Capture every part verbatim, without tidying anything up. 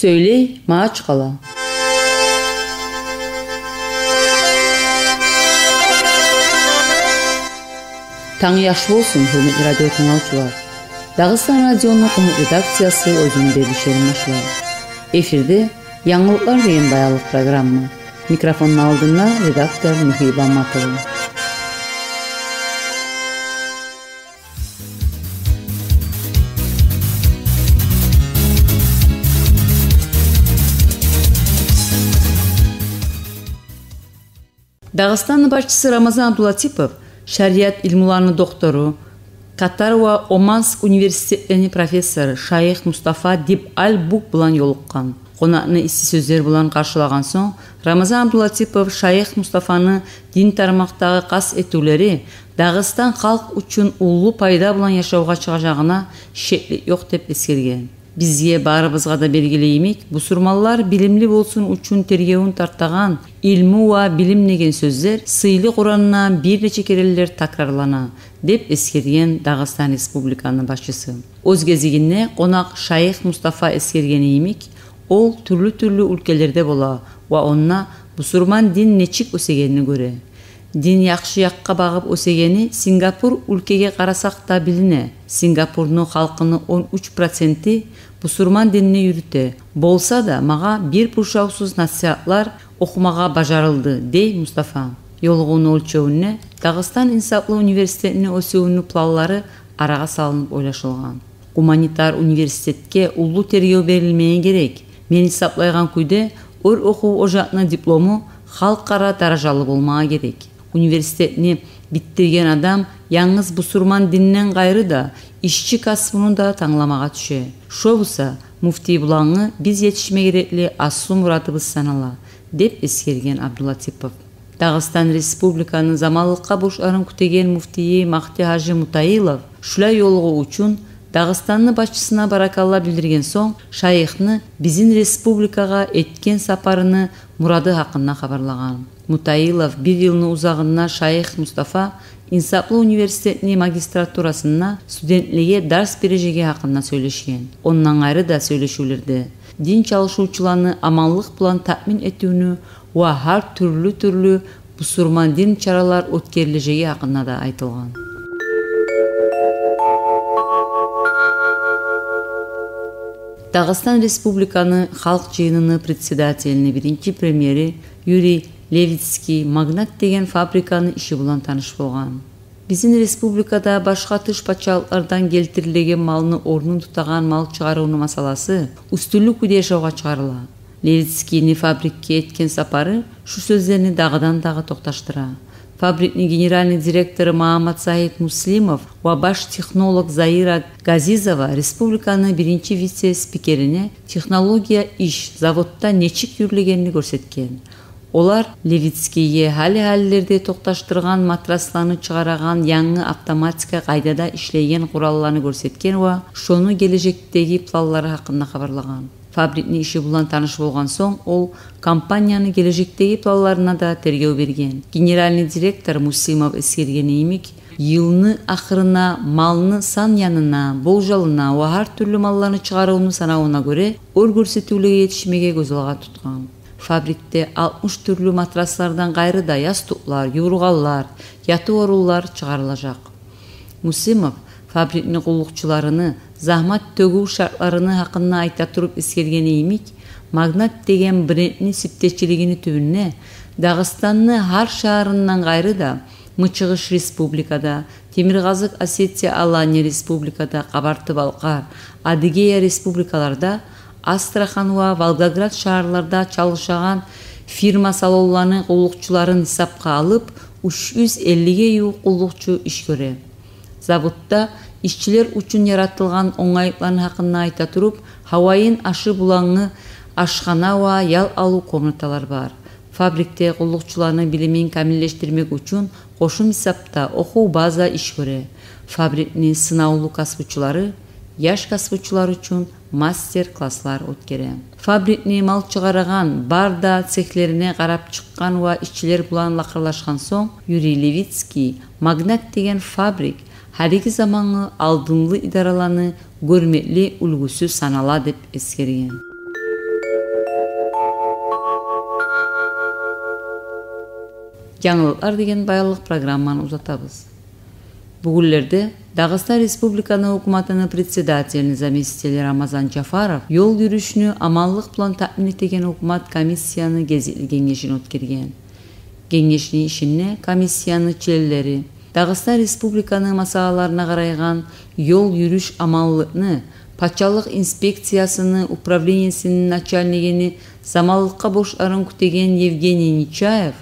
Сёйлей Магьачкъала. Танг яхшы болсун, гьюрметли радио тынглавчулар. Дагъыстан радиону къумукъ редакциясы оьзюню берилишин башлай. Эфирде «Янгылыкълар» деген баянлыкъ программа. Микрофонну алдында редактор Михаил Баматов. Дагъыстанны башчысы Рамазан Абдулатипов шариат илмуланы доктору, Катар ва Оманск университетлени профессору шайых Мустафа Диб Аль-Бук булан ёлукъгъан. Къонакъны исси сёзлер булан къаршылагъан сонг, Рамазан Абдулатипов шайых Мустафаны дин тармакъдагъы къаст этивлери Дагъыстан халкъ учун уллу пайда булан яшавгъа чыгъажагъына шеклик ёкъ деп эсгерген. Бизге барыбызгъа да белгили йимик, бусурманлар билимли болсун учун тергевюн тартагъан илму ва билим деген сёзлер сыйлы Къуранда бир нече керенлер такрарлана, деп эсгерген Дагъыстан Республиканы башчысы. Оьз гезигинде къонакъ шайых Мустафа эсгергени йимик, ол тюрлю-тюрлю уьлкелерде бола ва онда бусурман дин нечик оьсегенин гёре. Дин яхшы якъгъа багъып оьсегени Сингапур уьлкеге къарасакъ да билине. Сингапурну халкъыны он уьч проценти бусурман динни юрюте. Болса да, магъа бир пуршавсуз насигьатлар охумагъа бажарылды, дей Мустафа. Ёлугъувну оьлчевюнде Дагъыстан инсаплы университетини оьсювюню планлары арагъа салынып ойлашылгъан. Гуманитар университетге уллу тергев берилмеге герек. Мен гьисаплайгъан кюйде, оьр охув ожакъны диплому халкъара даражалы болмагъа герек. Университетни битдирген адам янгыз бусурман динден къайры да ишчи касбуну да тангламагъа тюше. Шо буса, муфтий булангъы биз етишме герекли аслу мурадыбыз санала, деп эсгерген Абдулатипов. Дагъыстан Республиканы заманлыкъгъа борчларын кютеген муфтийи Магьди-гьажи Мутаилов шулай ёлугъув учун Дагъыстанны башчысына баракалла билдирген сонг, шайыхны бизин республикагъа этген сапарыны мурады гьакъында хабарлагъан. Мутаилов бир йылны узагъында шайых Мустафа инсаплы университетни магистратурасында студентлеге дарс бережеги гьакъында сёйлешген. Ондан къайры да сёйлешивлерде дин чалышывчуланы аманлыкъ булан таъмин этивню ва гьар тюрлю-тюрлю бусурман дин чаралар оьтгерилежеги гьакъында да айтылгъан. Дагъыстан Республиканы Халкъ Жыйыныны председателини биринчи премьери Юрий Левицкий «Магнат» деген фабриканы иши булан таныш болгъан. Бизин республикада башгъа тыш пачалыкълардан гелтирилеген малны орнун тутагъан мал чыгъарывну масъаласы уьстюнлюк кюйде яшавгъа чыгъарыла. Левицкийни фабрикге этген сапары шу сёзлени дагъыдан-дагъы токъташдыра. Фабрикни генеральный директору Магьаммат-Сагьит Муслимов ва баш технолог Заира Газизова республиканы биринчи вице-спикерине технология иш заводда нечик юрюлегенин гёрсетген. Олар Левицкийге гьали-гьалилерде токъташдыргъан матрасланы чыгъарагъан янгы автоматика къайдада ишлейген къуралланы гёрсетген ва шону гележекдеги планлары гьакъында хабарлагъан. Фабрикни иши булан таныш болгъан сонг, ол компанияны гележекдеги планларына да тергев берген. Генеральный директор Муслимов эсгергени йимик, йылны ахырына малны сан янына, болжалына ва гьар тюрлю малланы чыгъарывну санавуна гёре оьр гёрсетивлеге етишмеге гёз алгъа тутгъан. Фабрикде алтмыш тюрлю матраслардан къайры да ястукълар, ювургъанлар, ятыв орунлар чыгъарылажакъ. Муслимов фабрикни къуллукъчуларыны загьмат тёгюв шартларыны гьакъында айта туруп эсгергени йимик, «Магнат» деген брендни сиптечилигини тюбюнде Дагъыстанны гьар шагьарындан къайры да Мычыгъыш Республикада, Темиркъазыкъ Осетия-Алания Республикада, Къабарты-Балкъар, Адыгея Республикаларда, Астрахан ва Волгоград шагьарларда чалышагъан фирма салонланы къуллукъчуларын гьисапгъа алып, уьч юз эллиге ювукъ къуллукъчу иш гёре. Заводда ишчилер учун яратылгъан онгайлыкъланы гьакъында айта туруп, гьавайын ашы булангъы ашхана ва ял алыв комнаталар бар. Фабрикде къуллукъчуланы билимин камиллешдирмек учун къошум гьисапда охув база иш гёре. Фабрикни сынавлу касбучулары яш касбучулар учун мастер-класслар оьтгере. Фабрикни мал чыгъарагъан бар да цехлерине къарап чыкъгъан ва ишчилер булан лакъырлашгъан сонг, Юрий Левицкий «Магнат» деген фабрик гьалиги замангъы алдынлы идараланы гёрмекли уьлгюсю санала деп эсгерген. «Янгылыкълар деген баянлыкъ» программаны узатабыз. Бугюнлерде Дагъыстан Республиканы гьукуматыны председателини заместители Рамазан Жафаров ёл юрюшню аманлыкъ булан таъмин этеген гьукумат комиссияны гезикли генгешин оьтгерген. Генгешни ишинде комиссияны членлери Дагъыстан Республиканы масъалаларына къарайгъан ёл юрюш аманлыкъны пачалыкъ инспекциясыны управлениесини начальнигини заманлыкъгъа борчларын кютеген Евгений Нечаев,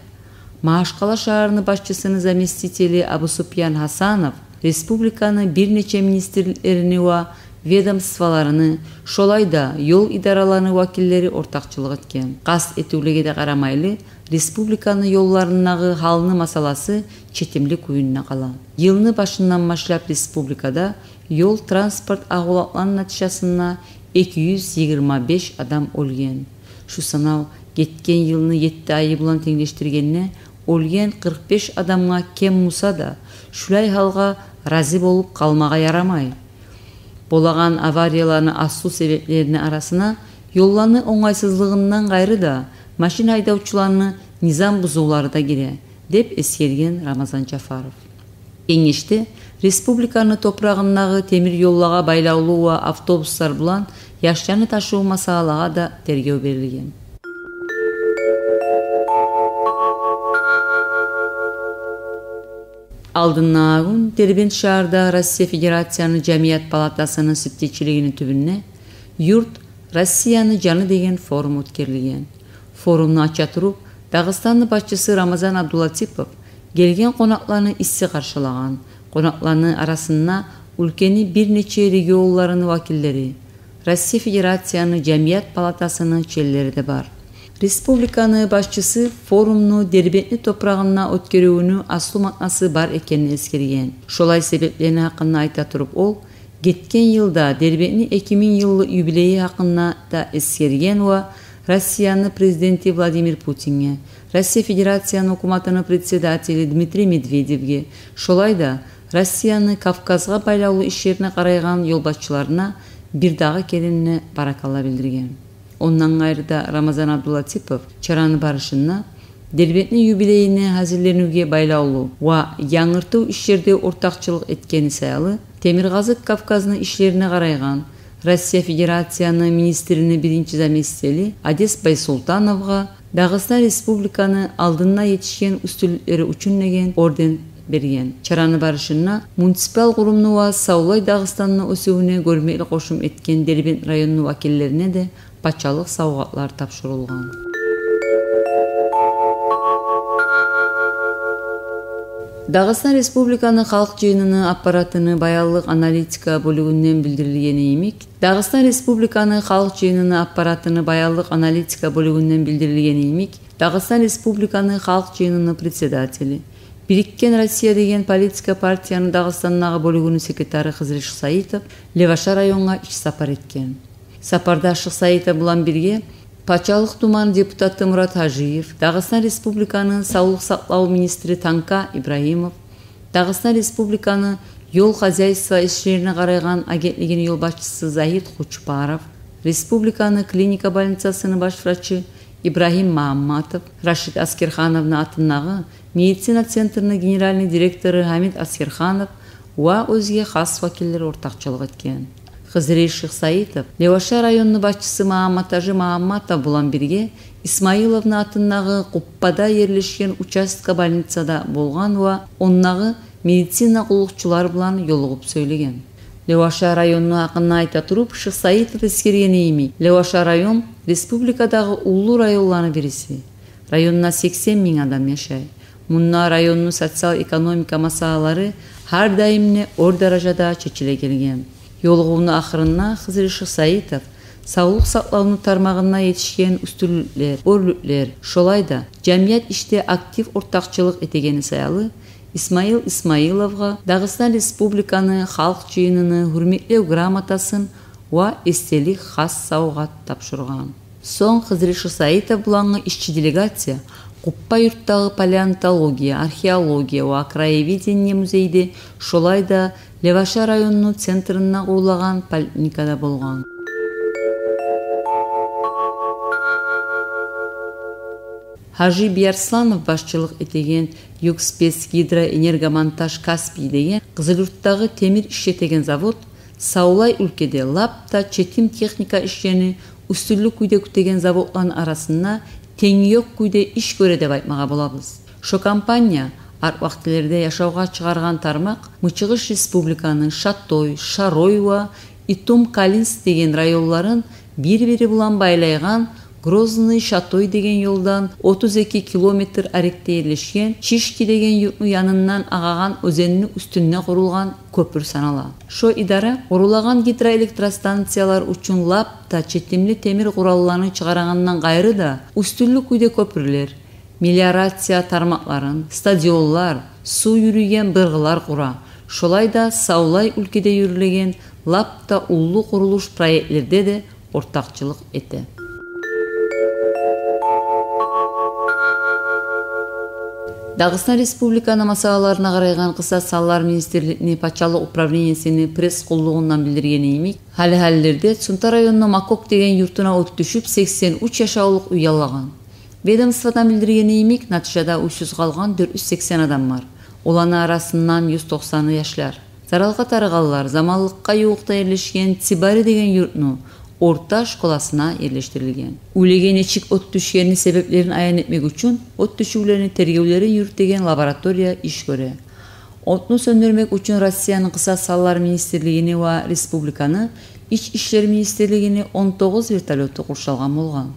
Магьачкъала шагьарны башчысыны заместители Абусупиян Гьасанов республиканы бир нече министрликлерини ва ведомстволарыны, шолай да ёл идараларыны вакиллери ортакъчылыкъ этген. Къаст этивлеге де къарамайлы, республиканы ёлларындагъы гьалны масъаласы четимли кююнде къала. Йылны башындан башлап республикада ёл-транспорт агъулакъланы натижасында эки юз йигирма беш адам оьлген. Шу санав гетген йылны етти айы булан тенглешдиргенде оьлген къыркъ беш адамгъа кем буса да, шулай гьалгъа рази болуп къалмагъа ярамай. Болагъан аварияланы аслу себеплерини арасына ёлланы онгайсызлыгъындан къайры да, машин гьайдавчуланы низам бузувлары да гире, деп эсгерген Рамазан Жафаров. Генгешде республиканы топурагъындагъы темир ёллагъа байлавлу ва автобуслар булан яшланы ташыв масъалагъа да тергев берилген. Алдындагъы гюн Дербент шагьарда Россия Федерацияны Жамият палатасыны сюбсегерчилигини тюбюнде «Юрт – Россияны жаны» деген форум оьтгерилген. Форумну ача туруп, Дагъыстанны башчысы Рамазан Абдулатипов гелген къонакъланы исси къаршылагъан. Къонакъланы арасында уьлкени бир нече регионларыны вакиллери, Россия Федерацияны Жамият палатасыны членлери де бар. Республиканы башчысы форумну Дербентни топурагъында оьтгерювню аслу маънасы бар экенин эсгерген. Шолай себеплени гьакъында айта туруп, ол гетген йылда Дербентни эки минг йыллыкъ юбилейи гьакъында да эсгерген ва Россияны президенти Владимир Путинге, Россия Федерацияны гьукуматыны председатели Дмитрий Медведевге, шолай да Россияны Кавказгъа байлавлу ишлерине къарайгъан ёлбашчыларына бир дагъы керен де баракалла билдирген. Ондан къайры да Рамазан Абдулатипов чараны барышында Дербентни юбилейине гьазирленивге байлавлу ва янгыртыв ишлерде ортакъчылыкъ этгени саялы, Темиркъазыкъ Кавказны ишлерине къарайгъан Россия Федерацияны министрини биринчи заместители Одес Байсултановгъа Дагъыстан Республиканы алдында етишген уьстюнлюклери учун деген орден берген. Чараны барышында муниципал къурумну ва савлай Дагъыстанны оьсювюне гёрмекли къошум этген Дербент районну вакиллерине де пачалыкъ савгъатлар тапшурулгъан. Дагъыстан Республиканы Халкъ Жыйыныны аппаратыны баянлыкъ аналитика бёлюгюнден билдирилгени йимик, Дагъыстан Республиканы Халкъ Жыйыныны аппаратыны баянлыкъ аналитика бёлюгюнден билдирилгени йимик, Дагъыстан Республиканы Халкъ Жыйыныны председатели, «Бириккен Россия» деген политика партияны Дагъыстандагъы бёлюгюню секретары Хизри Шихсаитов Леваша районгъа иш сапар этген. Сапарда Шихсаитов булан бирге Пачалыкъ Думаны депутаты Мурат Гьажиев, Дагъыстан Республиканы савлукъ сакълав министри Танка Ибрагьимов, Дагъыстан Республиканы ёл хозяйство ишлерине къарайгъан агентлигини ёлбашчысы Загьит Къучупаров, республиканы клиника больницасыны баш врачы Ибрагьим Магьамматов, Рашид Аскерхановну атындагъы медицина центрини генеральный директору Гьамид Аскерханов ва оьзге хас вакиллер ортакъчылыкъ этген. Хизри Шихсаитов Леваша районну башчысы Магьамматгьажи Магьамматов булан бирге Исмаиловну атындагъы Къуппада ерлешген участка больницада болгъан ва ондагъы медицина къуллукъчулар булан ёлугъуп сёйлеген. Леваша районну гьакъында айта туруп, Шихсаитов эсгергени йимик, Леваша район республикадагъы уллу районланы бириси. Районда сексен минг адам яшай. Мунда районну социал-экономика масъалалары гьар даим де оьр даражада чечиле гелген. Ёлугъувну ахырында Хизри Шихсаитов савлукъ сакълавну тармагъында етишген уьстюнлюклер, оьрлюклер, шолай да жамият ишде актив ортакъчылыкъ этегени саялы Исмаил Исмаиловгъа Дагъыстан Республиканы Халкъ Жыйыныны гьюрметлев грамотасын ва эсделик хас савгъат тапшургъан. Сонг Хизри Шихсаитов булангъы ишчи делегация Къуппа юртдагъы палеонтология, археология ва краеведение музейде, шолай да Леваша районну центринде къурулагъан поликлиникада болгъан. Гьажи Биярсланов башчылыкъ этеген «Югспецгидроэнергомонтаж Каспий» деген Къызылюртдагъы темир ишлетеген завод савлай уьлкеде лап да четим техника ишлени уьстюнлю кюйде кютеген заводланы арасында тенги ёкъ кюйде иш гёре деп айтмагъа болабыз. Шо компания арт вакътилерде яшавгъа чыгъаргъан тармакъ Мычыгъыш Республиканы Шатой, Шарой ва Итум-Калинск деген районларын бир-бири булан байлайгъан Грозный-Шатой деген ёлдан отуз эки километр арекде ерлешген Чишки деген юртну янындан агъагъан оьзенни уьстюнде къурулгъан кёпюр санала. Шо идара къурулагъан гидроэлектростанциялар учун лап да четимли темир къуралланы чыгъарагъандан къайры да, уьстюнлю кюйде кёпюрлер, мелиорация тармакъларын, стадионлар, сув юрюйген быргъылар къура. Шолай да савлай уьлкеде юрюлеген лап да уллу къурулуш проектлерде де ортакъчылыкъ эте. Дагъыстан Республиканы масъалаларына къарайгъан Къысас санлар министрликни пачалыкъ управлениесини пресс-къуллугъундан билдиргени йимик, гьали-гьалилерде Цунта районну Макок деген юртуна от тюшюп, сексен уьч яшавлукъ уьй ялагъан. Ведомстводан билдиргени йимик, натижада уьйсюз къалгъан дёрт юз сексен адам бар. Оланы арасындан юз токъсаны яшлар. Заралгъа тарыгъанлар заманлыкъгъа ювукъда ерлешген Цибари деген юртну орта школасына ерлешдирилген. Уьйлеге нечик от тюшгенини себеплерин аян этмек учун от тюшювлени тергевлерин юрютеген лаборатория иш гёре. Отну сёндюрмек учун Россияны Къысас санлар министрлигини ва республиканы Ич ишлер министрлигини он тогъуз вертолёту къуршалгъан болгъан.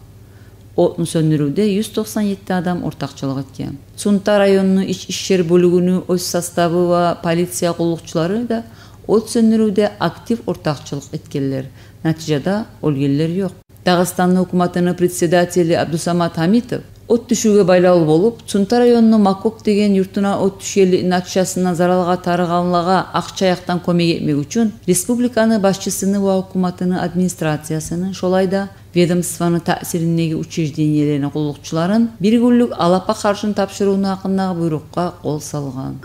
Отну сёндюрювде юз токъсан етти адам ортакъчылыкъ этген. Цунта районну ич ишлер бёлюгюню оьз составы ва полиция къуллукъчулары да от сёндюрювде актив ортакъчылыкъ этгенлер. Натижада оьлгенлер ёкъ. Дагъыстанны гьукуматыны председатели Абдусамат Гьамитов от тюшювге байлавлу болуп, Цунта районну Макок деген юртуна от тюшгенликни натижасында заралгъа тарыгъанлагъа акъча якъдан кёмек этмек учун республиканы башчысыны ва гьукуматыны администрациясыны, шолай да ведомствону таъсириндеги учреждениелени къуллукъчуларын бир гюнлюк алапа харжны тапшырывну гьакъындагъы буйрукъгъа къол салгъан.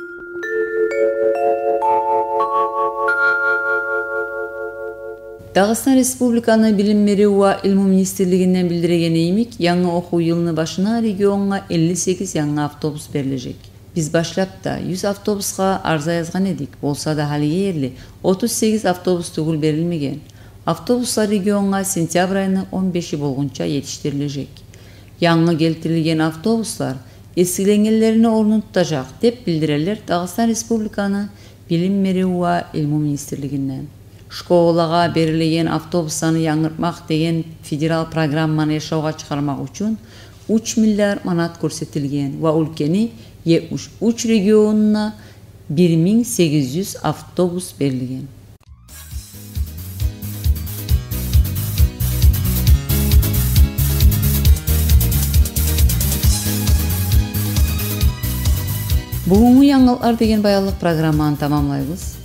Дагъыстан Республиканы Билим берив ва илму министрлигинден билдирегени йимик, янгы охув йылны башына регионгъа элли сегиз янгы автобус берилежек. Биз башлап да юз автобусгъа арза язгъан эдик, болса да гьалиге ерли отуз сегиз автобус тюгюл берилмеген. Автобуслар регионгъа сентябрь айны он беши болгъунча етишдирилежек. Янгы гелтирилген автобуслар эсгиленгенлерини орнун тутажакъ, деп билдирелер Дагъыстан Республиканы Билим берив ва илму министрлигинден. Школагъа берилеген автобусланы янгыртмакъ деген федерал программаны яшавгъа чыгъармакъ учун уьч миллиард манат гёрсетилген ва уьлкени етмиш уьч регионуна бир минг сегиз юз автобус берилген. Бугюнгю «Янгылыкълар» деген баянлыкъ программаны тамамлайбыз.